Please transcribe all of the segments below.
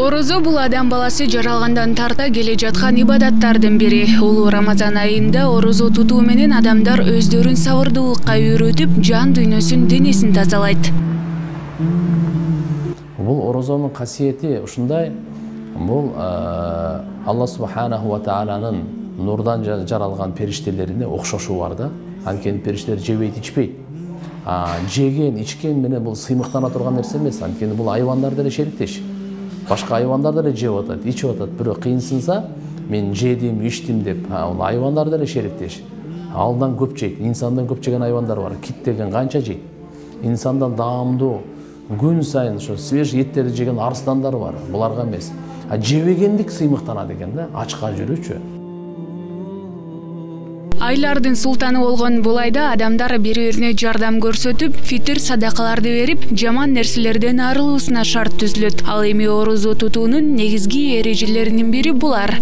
Орозо бул адам баласы жаралгандан тарта келе жаткан ибадаттардын бири. Улуу Рамазан айында орозо тутуу менен адамдар өздөрүн сабырдуулукка үйрөтүп, жан дүйнөсүн, денесин тазалайт. Бул орозонун касиети ушундай. Бул Алла субханаху ва тааланын нурдан жаралган периштелерине окшошуу бар да. Анткени периштелер жебейт, ичпейт. Жеген, ичкен менен бул сыймыктана турган нерсе эмес. Анткени бул айвандар деле шериктеш. Башка айвандар деле жеп атат, ичип атат. Бирок кыйынсынса, мен жедим, ичтим деп, ал айвандар деле шериктеш. Алдан көп жейт, инсандан көп жеген айвандар бар. Кит деген канча жейт. Инсандан даамдуу, күн сайын ошо свеж эттерди жеген арстандар бар. Буларга эмес. Жебегендик сыймыктана деген да, ачка жүрүүчү. Айлардын султаны болгон бул айда адамдар бири-бирине жардам көрсөтүп, фитир садакаларды берип, жаман нерселерден арылуусуна шарт түзүлөт. Ал эми орозо тутуунун негизги эрежелеринин бири булар.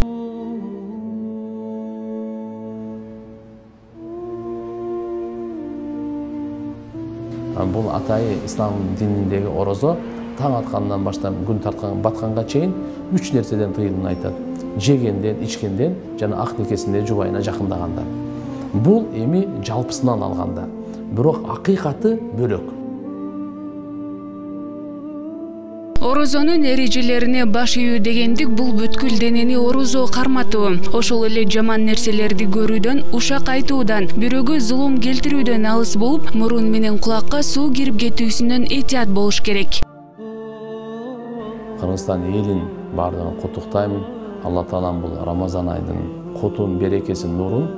Бул атайы ислам дининдеги орозо таң аткандан баштап күн батканга чейин 3 нерседен тыйылууну айтат. Жегенден, ичкенден жана ак некесинде жубайына жакындаганда. Бул эми жалпысынан алганда, бирок акыйкаты бөлөк. Орозонун эрежелерине баш ийүү дегендик бул бүткүл денени орозо карматуу. Ошол эле жаман нерселерди көрүүдөн, ушак айтуудан, бирөөгө зулум келтирүүдөн алыс болуп, мурун менен кулакка суу кирип кетүүсүнөн этият болуш керек. Кыргызстан элин баардыгын куттуктаймын. Алла таалам бул Рамазан айдын кутун, берекесин, нурун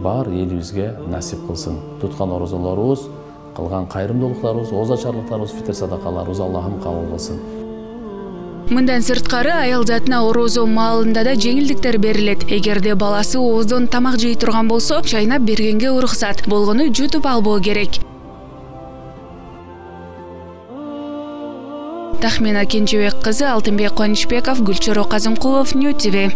бар элибизге насип кылсын. Туткан орозолорубуз, кылган кайрымдуулуктарыбыз, оозачарлыктарыбыз, фитир садакаларыбыз Аллахым кабыл кылсын. Мындан сырткары аял затына орозо маалында да жеңилдиктер берилет. Эгерде баласы ооздон тамак жей турган болсо, чайнап бергенге уруксат, болгону жутуп албоо керек. Тахмина Кенжебек кызы, Алтынбек Кубанычбеков, Гүлчөрө Казымкулов, Нью ТВ.